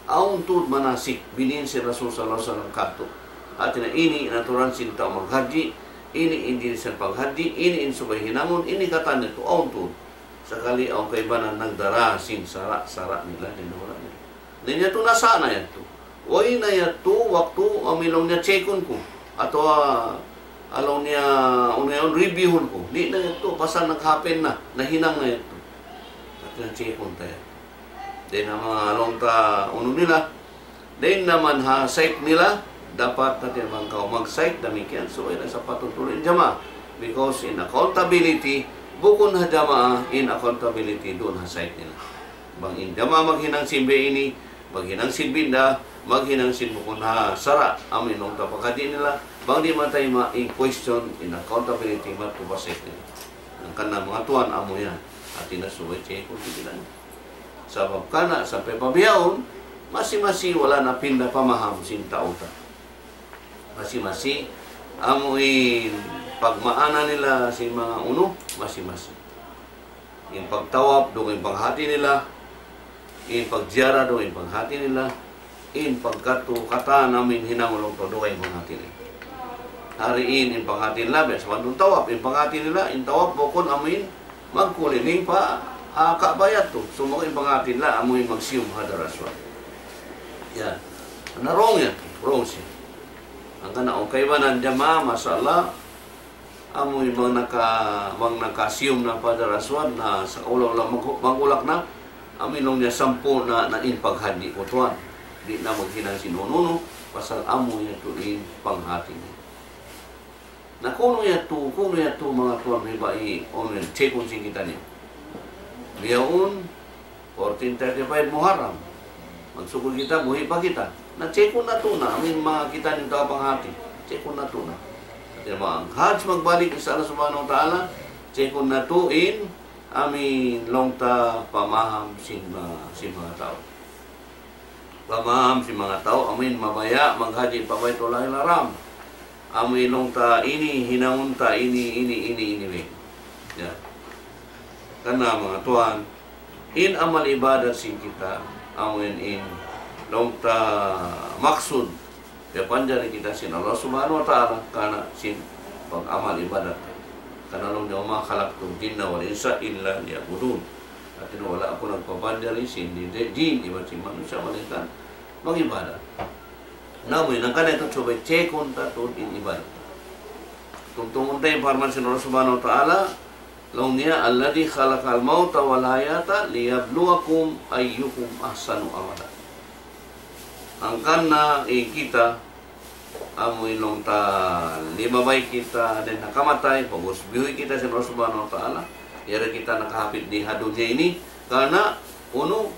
Awn tuud manasik, biniin sin Rasul sallallahu alayhi wasallam katu'. Hati niya ini in aturan sin tau maghajji, ini in jinisan paghajji, ini in subay hinangun, ini katan niya tu awn tu. Sakali awn kaibanan nagdara sin sara'-sara' nila, di' na wala' nila. Na in yadtu nasa' na yadtu. Way na yadtu waktu amu in laung niya check-un ku. Atawa, ah, laung niya, unu yan, review-hun ku. Di' na yadtu, pasal nag-happen na, nahinang na yadtu. Hati niya check-un ta yan. Di' na ma laung ta unu nila. Di' na man ha site nila, dapat hati niya bang kaw mag-site, damikkiyan. So, yan sa' patutulan jamaah. Because in accountability, bukun ha jamaah, in accountability duun ha site nila. Bang in jamaah maghinang sin biya' ini, maghinang sin bid'ah, maghinang sin bukun ha sara', amu in laung ta pagkadi nila, bang di' matayma' in question, in accountability, madtu pa site nila. Hangkan na manga tuwan amu yan. Hati niya subay check-un sin bilang. Sabab karna' sampay pa bihaun, masi-masi wala' na pinda pamaham sin tau ta. Masi-masi, amu in pagmaana nila sin manga unu, masi-masi. In pagtawaf, dugaing panghati nila. In pagziyara, dugaing panghati nila. In pagkadtu katan amu in hinangun laung ta, dugaing panghati nila. Hari in, in panghati nila, biya' sa' bang tawaf, in panghati nila, in tawaf bukun amu in magkuliling pa, ah, Ka'bah yadtu. Sumagawa' in panghati nila, amu in magsiyum Hajar Aswad. Yan. Na wrong yan. Wrong siya. Hangkan na, awn kaibanan jamaah, masha Allah, amu in bang naka-, bang nakasiyum na pa Hajar Aswad na sakaula-ula mag-, mag-ulak na, amu in laung niya sampurna' na in paghajji ku tuwan. Di' na maghinang sin unu-unu, pasal amu yadtu in panghati niya. Na kunu' yadtu, kunu' yadtu manga tuwan ribai, unu yan, check-un sin kitaniyu. Bihaun, fourteen thirty-five Muharram. Magsukul kita, buhi' pa kita. Na check-un natu' na, amu in manga kitaniyu tau panghati. Check-un natu' na. Hati niya bang Hajj magbalik, insya Allah subhanahu wa ta'ala, check-un natu' in, amu in laung ta pamaham sin ma-, sin manga tau. Pamaham sin manga tau, amu in mabaya' maghajji pa Baytullahil Haram. Amu in laung ta ini, hinangun ta ini, ini, ini, ini, ini. Ya. Karna' manga tuwan, in amal ibadat sin kita, amu in, in laung ta maksud, piyapanjari kita sin Allah Subhanahu wa Ta'ala, karna' sin pag-amal ibadat. Karna' laung niya, وما خلقت الجن والإنس إلا ليعبدون. Hati niya wala' aku nagpapanjari sin jin, jin iban sin manusiya' malaingkan mag-ibadat. Na amu in hangkan na yadtu subay check-un ta tuud in ibadat. Tumtumun ta in parman sin Allah Subhanahu wa Ta'ala, laung niya, الذي خلق الموت والحياة ليبلوكم أيكم أحسن عملا. Hangkan na in kita, amu in laung ta limabay kita dayn ha kamatay, pag'ubus biyuhi' kita sin Allah Subhanahu wa Ta'ala, yari kita nakahapit di ha dunya ini, karna' unu,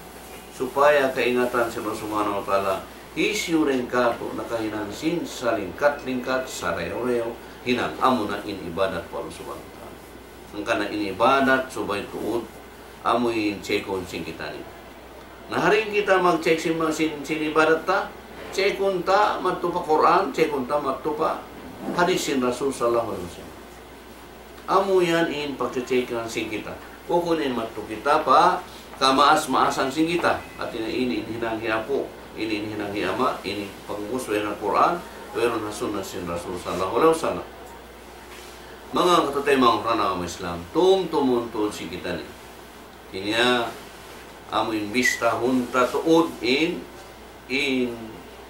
supaya kaingatan sin Allah Subhanahu wa Ta'ala, hisiyu dayn kātu' nakahinang sin salingkat-lingkat, sarayaw-rayaw hinang, amu na in ibadat pa Allah Subhanahu wa Ta'ala. Hangkan na in ibadat subay tuud, amu in check-un sin kitaniyu. Na, ha di' kita mag-check sin, sin, sin ibadat ta, check-un ta madtu pa Qur'an, check-un ta madtu pa hadith sin Rasul sallallahu alayhi wasallam. Amu yan in pagche-check-an sin kita. Bukun in madtu kita pa kamaas-maasan sin kita. Hati niya ini in hinang hi apu', ini in hinang hi ama', ini pag'ubus wayruun ha Qur'an, wayruun ha sunnah sin Rasul sallallahu alayhi wasallam. Manga kataymanghuran agama Islam, tumtumun tuud sin kitaniyu. Hati niya, amu in bistahun ta tuud in, in,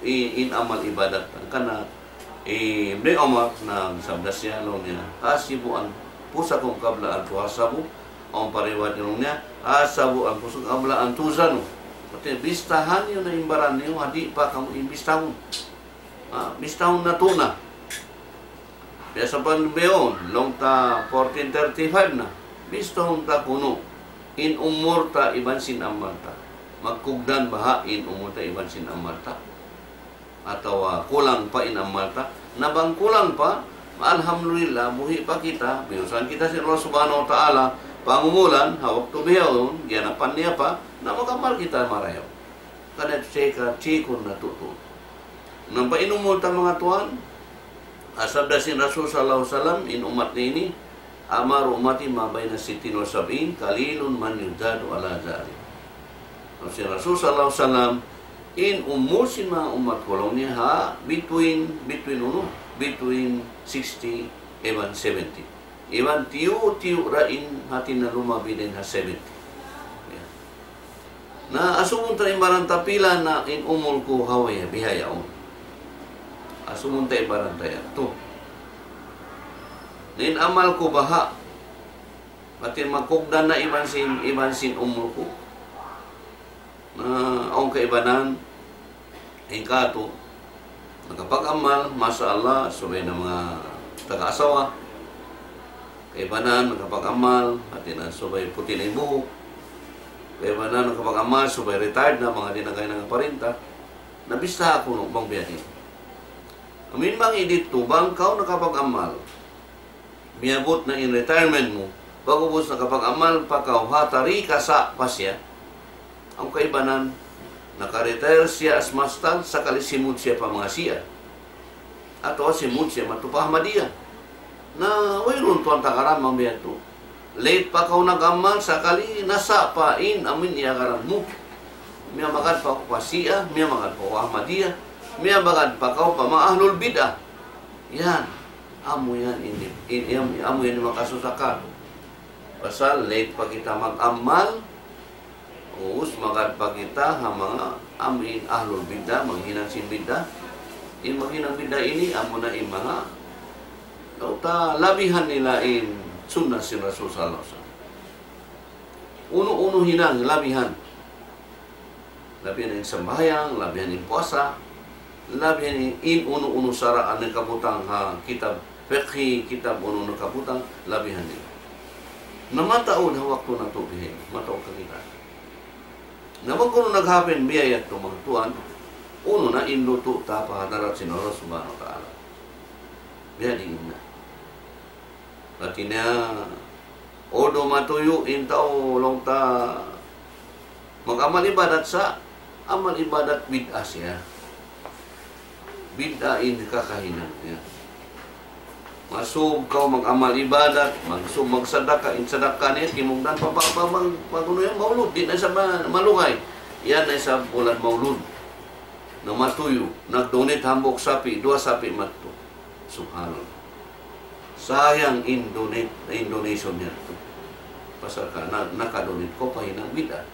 in, in amal ibadat. Hangkan na, eh, Ibnu Umar nagsabda siya, laung niya, حاسبوا أنفسكم قبل أن تحاسبوا. Awn pa riwayat laung niya, حاسبوا أنفسكم قبل أن توزنوا. Hati niya, bistahan niyu na in baran niyu, ha di' pa kamu in bistahun. Ah, bistahun natu' na. Biya' sa' pa bihaun, laung ta fourteen thirty-five na. Bistahun ta kunu' in umul ta iban sin amal ta. Magkugdan baha' in umul ta iban sin amal ta. Atawa kulang pa in amal ta. Na bang kulang pa, alhamdulillah, buhi' pa kita, biyusan kita sin Allah Subhanahu wa Ta'ala, pangumulan, ha waktu bihaun, giyanapan niya pa, na mag-amal kita marayaw. Karna' check-a, check-un natu' tuud. Na pa in umul ta manga tuwan, sabda sin Rasul sallallahu alayhi wasallam, in ummat niya ini, أعمار أمتي ما بين ستين وسبعين، قليل من يزاد على ذلك. Laung sin Rasul sallallahu alayhi wasallam, In umul sin manga ummat ku laung niya ha, between, between unu, between sixty iban seventy. Iban tiyu'-tiyu' ra in hati na lumabi dayn ha seventy. Ya. Na asubuhun ta in baran ta pila na in umul ku ha way bihaun. Asubuhun ta in baran ta yadtu. Na in amal ku baha'. Hati magkugdan na iban sin, iban sin umul ku. Na awn kaibanan, in katu', nakapag-amal, masha Allah, subay na manga taga-asawa. Kaibanan, nakapag-amal, hati na subay puti' na in buhuk. Kaibanan, nakapag-amal, subay retired na, manga di' na kaina nagparinta. Nabistahan ku, no, bang biya' diin. Amin bang in didtu, bang kaw nakapag-amal. Miyabut na in retirement mu, pag'ubus nakapag-amal pa kaw ha tarika sa' pa siya, awn kaibanan, naka-retire siya as mastal, sakali simud siya pa manga Shia. Atawa simud siya madtu pa Ahmadiyya. Na, wayruun tuwan takaran bang biya' yadtu. Late pa kaw nag-amal, sakali nasa' pa in amin iyagaran mu. Miyamagad pa kaw pa Shia, miyamagad pa kaw Ahmadiyya, miyamagad pa kaw pa manga ahlul bid'ah. Yan. Amu yan, in, in, in, amu yan in makasusa katu'. Pasal late pa kita mag-amal, ubus magad pa kita ha manga amu in ahlul bid'ah, maghinang sin bid'ah. In maghinang bid'ah ini, amu na in manga, laung ta labihan nila in sunnah sin Rasul sallallahu alayhi wasallam. Unu-unu hinang labihan. Labihan in sambahayang, labihan in puasa, labihan in, in unu-unu sara' in nakabutang ha kitab fiqhi, kitab unu nakabutang, labihan in. Na mataud ha waktu natu' bihaini, mataud kakitaan. Na bang kunu' nag-happen biya' yadtu manga tuwan, unu na in lutu' ta pa hadarat sin Allah Subhanahu wa Ta'ala. Biya' diin na. Hati niya, although matuyu' in tau laung ta mag-amal ibadat sa' amal ibadat bid'ah siya. Bid'ah in kakahinang niya. Masub kaw mag-amal ibadat, magsub magsadaka, in sadaka niya, kimugdan pa, pa, pa, mag, mag, unu yan, maulud, di' na isab ma-, malugay. Yan na isab bulan maulud. Na matuyu', nag-donate hambuuk sapi', duwa sapi' madtu. Subhanallah. Sayang in donate, in donation niya. Pasal ka, na, naka-donate kaw pa hinang bid'ah.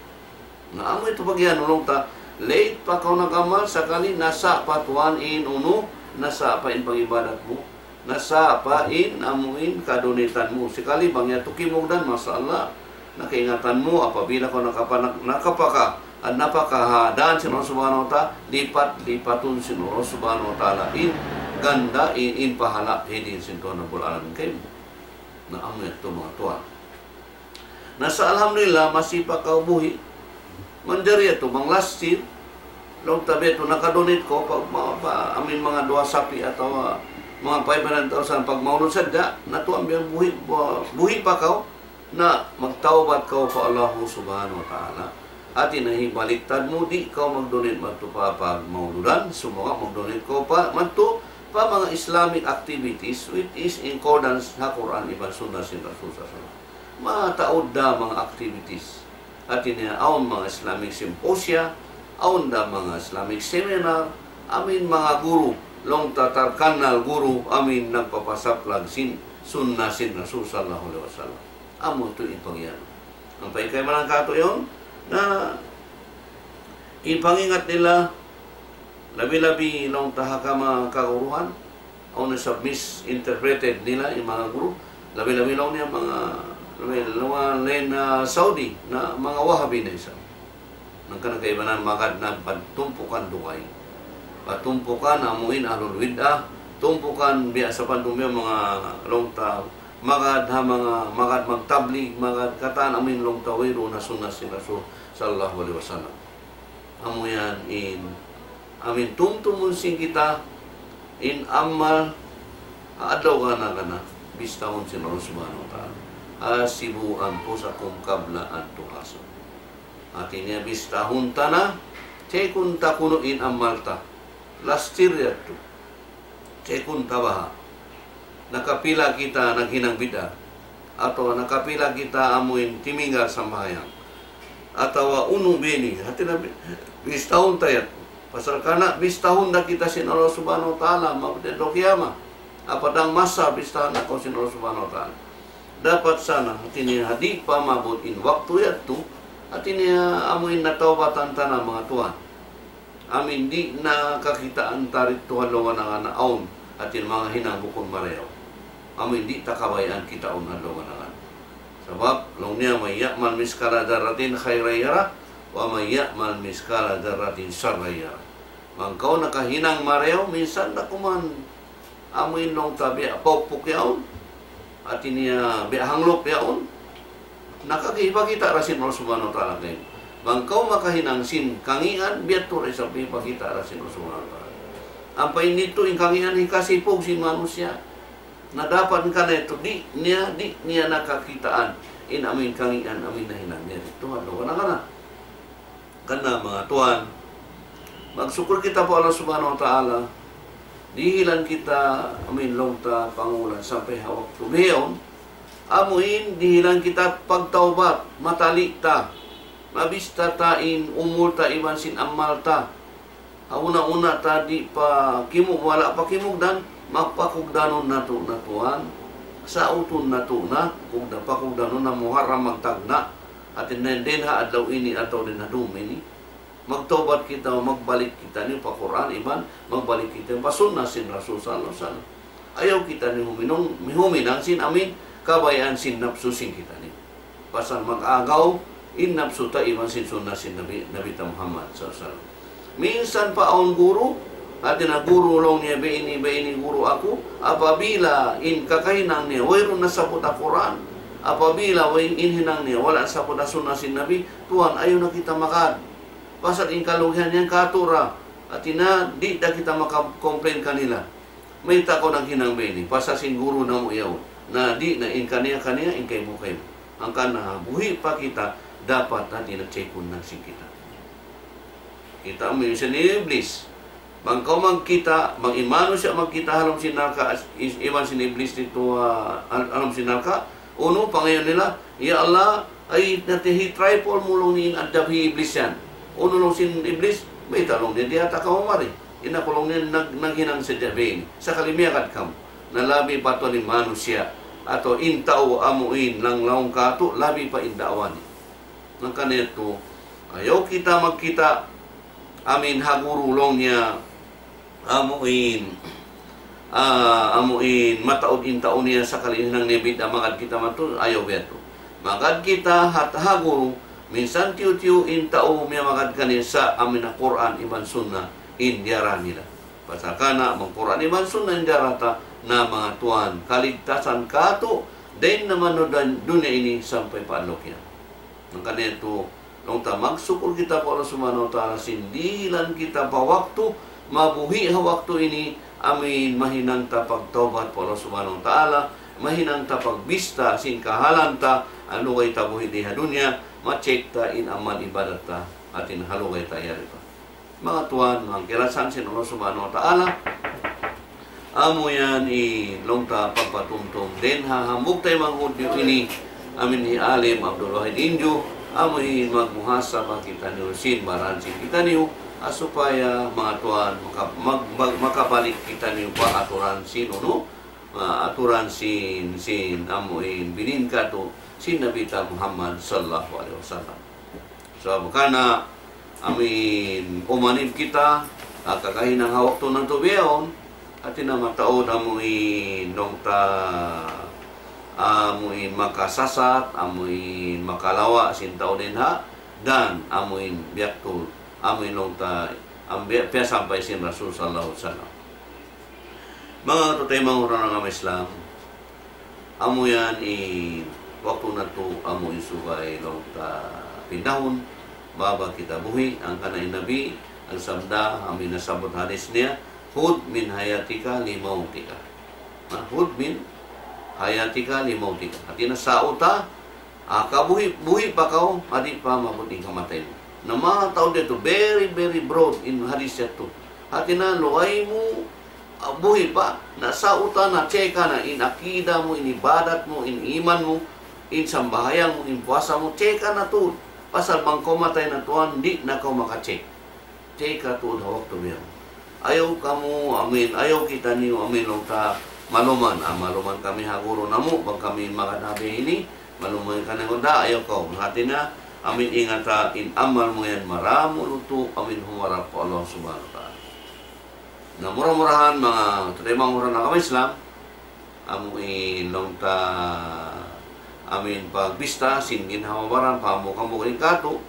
Na amu yadtu pag-iyanun laung ta, late pa kaw nag-amal, sakali nasa' pa tuwan in unu, nasa' pa in pag-ibadat mu, nasa' pa in amu in ka-donate-an mu. Sakali bang yadtu kimugdan, masha Allah, nakaingatan mu, apabila kaw nakapa-, nakapaka-, at napaka ha dān sin Allah Subhanahu wa Ta'ala, lipat-lipatun sin Allah Subhanahu wa Ta'ala in ganda, in, in pahala', hidin sin Tuhan Rabbul Alamin kaymu. Na amu yadtu manga tuwan. Na sa' alhamdulillah, masi pa kaw buhi'. Manjari yadtu, bang last year, laung ta biya' yadtu, naka-donate kaw pa, pa, pa, amin manga duwa sapi' atawa manga five hundred thousand pag maulud sadja, na tuwan biya' buhi', bu-, buhi' pa kaw, na magtawbat kaw pa Allahu Subhanahu wa Ta'ala. Hati niya hibaliktad mu, di' kaw mag-donate madtu pa pagmauludan, sumagawa' mag-donate kaw pa, madtu pa manga Islamic activities which is in accordance ha Qur'an iban Sunnah sin Rasul sallallahu alayhi wasallam. Mataud da manga activities. Hati niya awn manga Islamic symposia, awn da manga Islamic seminar, amin manga guru, laung ta tarkannal guru, amin nagpapasaplag sin Sunnah sin Rasul sallallahu alayhi wasallam. Amu yadtu in pag-iyanun. Ampa in kaibanan katu' yaun, na in pangingat nila, labi-labi laung ta ha kama kaguruhan, awn na isab misinterpreted nila in manga guru, labi-labi laung niya manga, labi, laung niya Saudi, na manga Wahabi na isab. Hangkan kaibanan magad na pa tumpukan dugaing. Pa tumpukan amu in ahlul bid'ah, tumpukan biya' sa' pandung biya' manga laung ta, magad ha manga, magad magtablig, magad katan amu in laung ta wayruun na sunnah sin Rasul sallallahu alayhi wasallam. Amu yan in, amu in tumtumun sin kita, in amal, ha adlaw gana-gana, bistahun sin Allah Subhanahu wa Ta'ala. حاسبوا أنفسكم قبل أن تحاسبوا. Hati niya bistahun ta na, check-un ta kunu' in amal ta. Last year yadtu. Check-un ta baha'. Nakapila kita naghinang bid'ah. Atawa nakapila kita amu in timinggal sambahayang. Atawa unu bini. Hati niya bi-, bistahun ta yadtu. Pasal karna' bistahun da kita sin Allah Subhanahu wa Ta'ala, maabut adlaw kiyamat. Apa dang masa bistahan na kaw sin Allah Subhanahu wa Ta'ala. Dapat sana, hati niya di' pa maabut in waktu yadtu, hati niya amu in nataubatan ta na manga tuwan. Amu in di' na kakitaan ta didtu ha lawm nangana' awn, hati niya manga hinang bukun marayaw. Amu in di' ta kabayaan kitaun ha lawm nangana'. Sabab, laung niya, من يعمل مثقال ذرة خيرا يره، ومن يعمل مثقال ذرة شرا يره. Bang kaw nakahinang marayaw, minsan da kuman amu in laung ta biya' paukpuk yaun. Hati niya biya' hanglup yaun. Nakakipakita' da sin Allah Subhanahu wa Ta'ala kaymu. Bang kaw makahinang sin kangīan, biya' tu da isab hipakita' da sin Allah Subhanahu wa Ta'ala. Ampa in yadtu in kangīan hikasipug sin manusiya'. Na dapat karna' yadtu, di' niya, di' niya nakakitaan in amu in kangīan, amu in nahinang niya didtu ha lawm nangana'. Karna' manga tuwan, magsukul kita pa Allah Subhanahu wa Ta'ala, dihilan kita amu in laung ta pangulan sampay ha waktu bihaun, amu in dihilan kita pagtawbat, matali' ta, mabista ta in umul ta iban sin amal ta. Ha una-una ta di' pa kimug, wala' pa kimugdan, magpakugdanun natu' na tuwan, sautun natu' na, kugda-, pakugdanun na Muharram magtagna', hati niya dayn ha adlaw ini atawa dayn ha dum ini. Magtawbat kita, magbalik kitaniyu pa Qur'an, iban magbalik kita pa sunnah sin Rasul sallallahu alayhi wasallam. Ayaw kitaniyu huminung, huminang sin amu in kabayaan sin napsu sin kitaniyu. Pasal mag-agaw in napsu ta iban sin sunnah sin Nabi, Nabi ta Muhammad sallallahu alayhi wasallam. Minsan pa awn guru, hati niya guru laung niya, "Biya' ini, biya' ini guru aku, apabila in kakahinang niya, wayruun nasabbut ha Qur'an, apabila way in hinang niya, wala' nasabbut ha sunnah sin Nabi, tuwan, ayaw na kita magad." Pasal in kalugihan yan kātu' ra. Hati niya, di' da kita maka-complain kanila. Mayta' kaw naghinang biya' ini? Pasal sin guru namu' yaun. Na di' na in kaniya-kaniya, in kaymu-kaymu. Hangkan na buhi' pa kita, dapat hati niya check-un na sin kita. Kita' mu in sin Iblis. Bang kaw magkita', bang in manusiya' magkita' ha lawm sin narka', is-, iban sin Iblis didtu, ah, ha lawm sin narka', unu, pangayu' nila, "Ya Allah, ay, nati hi triple mu laung niya in adjab hi Iblis yan." Unu laung sin Iblis, "Mayta' laung niya, di' ha ta kamu mari. In aku laung niya nag-, naghinang sadja biya' ini. Sakali miyagad kamu." Na labi pa tuwan in manusiya', atawa in tau amu in nanglaung kātu', labi pa in da'wa niya. Hangkan yadtu, ayaw kita magkita', amu in ha guru laung niya, amu in, ah, amu in mataud in tau niya sakali hinang niya bid'a, magad kita madtu, ayaw biya' yadtu. Magad kita ha, ha guru, minsan tiyu'-tiyu' in tau miyamagad kaniya sa' amu in ha Qur'an iban sunnah in diyara nila. Pasal karna' bang Qur'an iban sunnah in diyara ta, na manga tuwan, kaligtasan kātu', dayn ha manga dunya ini sampay pa adlaw kiyamat. Hangkan yadtu, laung ta magsukul kita pa Allah Subhanahu wa Ta'ala sin dihilan kita pa waktu, mabuhi' ha waktu ini, amu in mahinang ta pagtawbat pa Allah Subhanahu wa Ta'ala, mahinang ta pagbista sin kahalan ta, ha lugay ta buhi' di ha dunya, ma-check ta in amal ibadat ta, hati niya ha lugay ta yari pa. Manga tuwan, manga kiyalasahan sin Allah Subhanahu wa Ta'ala, amu yan in laung ta pagpatumtum dayn ha hambuuk taymanghud niyu ini, amu in hi Alim Abdul Wahid Inju, amu in magmuhasabah kitaniyu sin baran sin kitaniyu, ha supaya manga tuwan maka-, mag-, mag-, makabalik kitaniyu pa aturan sin unu, ah, aturan sin, sin amu in binin kātu' sin Nabi ta Muhammad sallallahu alayhi wasallam. Sabab karna' amu in umanib kita, ah, kakahinang ha waktu natu' bihaun, hati niya mataud amu in laung ta, amu in makasasat, amu in makalawa' sin tau dayn ha, dan amu in biyaktul, amu in laung ta, amu in biya', biya' sampay sin Rasul sallallahu alayhi wasallam. Manga tuwan, manga agama Islam, amu yan in waktu natu', amu in subay laung ta pindahun, bang kita buhi', hangkan in Nabi, nagsabda, amu in nasabbut hadis niya, "خذ من حياتك لموتك." Ha, "خذ من حياتك لموتك." Hati niya sa' uta, ah, kabuhi', buhi' pa kaw, ha di' pa maabut in kamatay mu. Na manga tau didtu, very, very broad in hadis yadtu. Hati niya, lugay mu, ah, buhi' pa, na sa' uta na, check na in akida mu, in ibadat mu, in iman mu, in sambahayang mu, in puasa mu, check na tuud. Pasal bang kaw matay na tuwan, di' na kaw maka-check. Teka tuud ha waktu bihaun. Ayaw kamu, amin, ayaw kitaniyu, amin, laung ta, maluman, ah, maluman kami ha guru namu', bang kami magad ha biya' ini, maluman kami, da, ayaw kaw. Hati niya, amin, ingata, in amal mu yan, maramu' lutu', amin, humarap pa Allah Subhanahu wa Ta'ala. Na mura-murahan, manga taymanghud ku ha agama Islam, amu in laung ta, amin pagbista sin ginhawa-baran, pahambuuk-hambuuk in katu',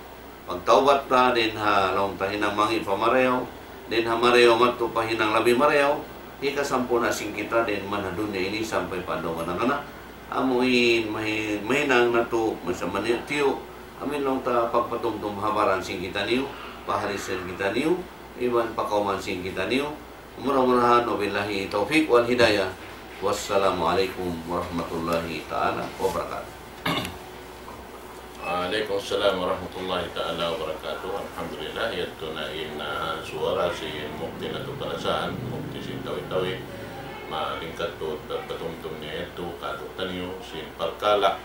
pagtawbat ta, dayn ha laung ta hinang mangi' pa marayaw, dayn ha marayaw madtu pa hinang labi marayaw, hikasampurna' sin kita dayn man ha dunya ini sampay pa adlaw gana-gana. Amu in mahi-, mahinang natu', masa maniyu'-tiyu', amin laung ta pagpatumtum ha baran sin kitaniyu, pa hadis sin kitaniyu, iban pa kawman sin kitaniyu, Mura-murahan, وبالله التوفيق والهداية. والسلام عليكم ورحمة الله تعالى وبركاته. Alaykum salam warahmatullahi ta'ala wabarakatuh. Alhamdulillah, yadtu na in, ah, suwara sin mufti natu' kalasahan, mufti sin Tawi-Tawi. Malingkat tuud pagpatumtum niya yadtu kātu'niyu sin parkala'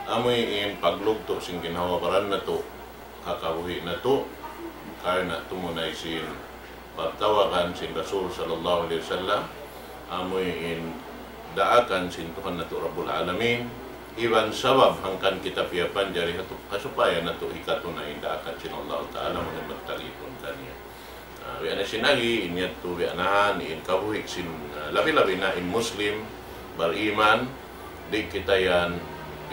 amuin paglugtu' sin ginhawa-baran natu', ha kabuhi' natu', karna' tumunay sin pagtawagan sin Rasul sallallahu alayhi wasallam, amuin daakan sin Tuhan natu' Rabbul Alamin, iban sabab hangkan kita piyapanjari hatu-, ha supaya natu' hikatuna in daakan sin Allah Ta'ala, amuin magtalipun kaniya. Ah, biya' na sin agi, in yadtu biya' na, in kabuhi' sin, ah, labi-labi na in Muslim, bariman, di' kita yan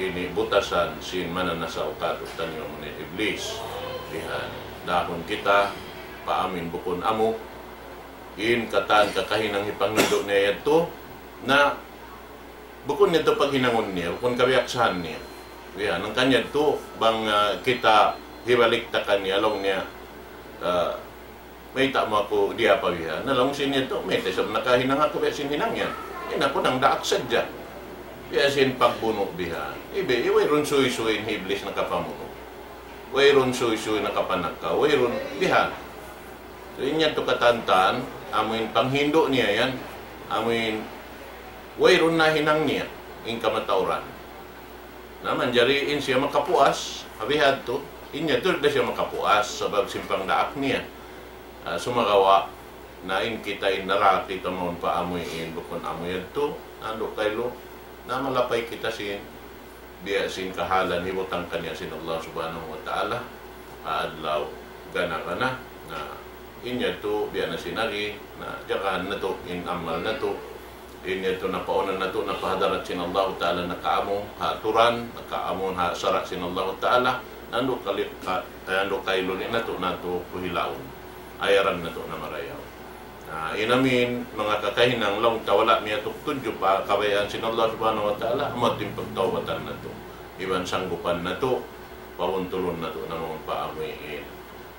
ini butasan sin mananasaw kātu'niyu amuin Iblis. Bihan, dahun kita, pa amuin bukun amu, in katan kakahinang hipanghindu' niya yadtu, na bukun yadtu paghinangun niya, bukun kabiyaksahan niya. Bihan, hangkan yadtu, bang, ah, kita hibalik ta kaniya, laung niya, ah, Mayta' mu aku diyapa bihan? Na laung sin yadtu, mayta' isab nakahinang aku biya' sin hinang yan. In aku nangdaak sadja. Biya' sin pagbunu' bihan. Ibi, wayruun suysuy in hi Iblis nakapamunu'. Wayruun suysuy nakapanakaw. Wayruun bihan. So, in yadtu katantan, amuin panghindu' niya yan. Amuin wayruun nahinang niya in kamatauran. Na manjari in siya makapuas, ha bihadtu, in yadtu da siya makapuas, sabab sin pangdaak niya. Ah, sumagawa', na in kita in naraki ta mawn pa amuin, bukun amu yadtu, andu' kailu, na malapay kita sin, biya' sin kahalan hibutang kaniya sin Allah Subhanahu wa Ta'ala, ha adlaw gana-gana, na in yadtu, biya' na sin agi, na jagahan natu', in amal natu', in yadtu napaunan natu', na pa hadarat sin Allahu Ta'ala nakaamu, ha aturan, nakaamu, ha sara' sin Allahu Ta'ala, nandu' kali-, ka-, eh, nandu' kailu in natu', natu' puhilaun. Ayaran natu' na marayaw. Na, in amin, manga kakahinang laung ta wala' miyatuk tudju pa kabayaan sin Allah Subhanahu wa Ta'ala, amu in pagtawbatan natu'. Iban sanggupan natu', pabuntulun natu' na mawn pa amuin.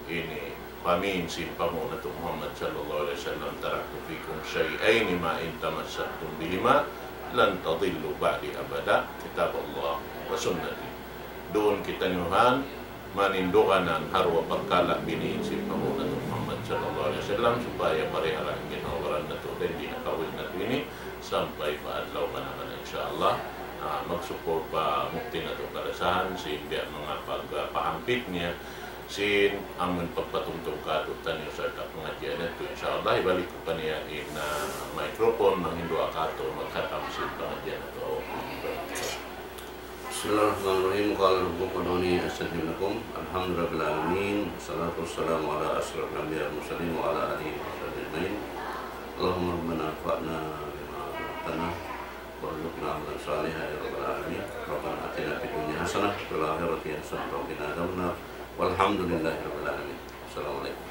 Ini pamin sin panghu' natu' Muhammad sallallahu alayhi wasallam, تركت فيكم شيئين ما إن تمسكتم بهما لن تضلوا بعدي أبدا، كتاب الله وسنتي. Duun kitaniyu ha maninduganan ha duwa parkala' biniin sin panghu' natu' Muhammad sallallahu alayhi wasallam, supaya parihala' in ginhawa-baran natu', dayn di ha kabuhi' natu' ini, sampay pa adlaw gana-gana, insya Allah. Ah, magsukul pa mufti natu' kalasahan, sin biya' manga pag-, ah, pahampit niya, sin amun pagpatumtum kātu'niyu sarta' pangadjian yadtu, insya Allah, hibalik ku kaniya in, ah, microphone, manghindu' kātu', maghatam sin pangadjian natu'. بسم الله الرحمن الرحيم. قال ربكم ادعوني أستجب لكم. الحمد لله رب العالمين. والصلاة والسلام على أشرف الأنبياء والمرسلين وعلى آله وصحبه أجمعين. اللهم ربنا انفعنا بما علمتنا وارزقنا عملا صالحا يا رب العالمين. ربنا آتنا في الدنيا حسنة وفي الآخرة حسنة وقنا عذاب النار. والحمد لله رب العالمين. السلام عليكم.